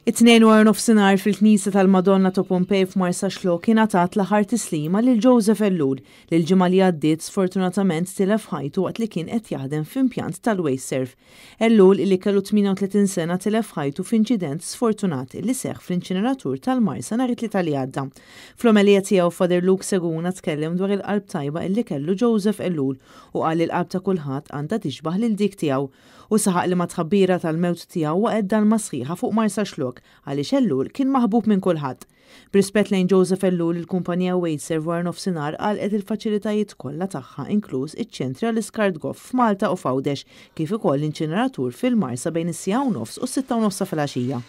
It-Tnejn wara nofsinhar fil-Knisja tal-Madonna ta' Pompej f'Marsaxlokk ingħatat l-aħħar tislima lil Joseph Ellul li l-ġimgħa li għaddiet sfortunatament tilef ħajtu waqt li kien qed jaħdem f'impjant tal-Wasteserv. Ellul li kellu 38 sena tilef ħajtu f'inċident sfortunat li seħħ fl-inċineratur tal-Marsa nhar it-Tlieta li għadda. Fl-omelija tiegħu Father Luke Seguna tkellem dwar il-qalb tajba illi kellu Joseph Ellul u qal li l-qalb ta' kulħadd għandha tixbah lil dik tiegħu. Hu saħaq li mat-tħabbira tal-mewt tiegħu waqgħet dalma sħiħa fuq Marsaxlokk għaliex Ellul kien maħbub minn kulħadd. B'rispett lejn Joseph Ellul, il-kumpanija Wasteserv wara nofsinhar għalqet il-faċilitajiet kollha tagħha inkluż iċ-ċentri għall-iskart goff f'Malta u f'Għawdex kif ukoll l-inċineratur fil-Marsa bejn is-siegħa u nofs u s-sitta u nofs ta' filgħaxija.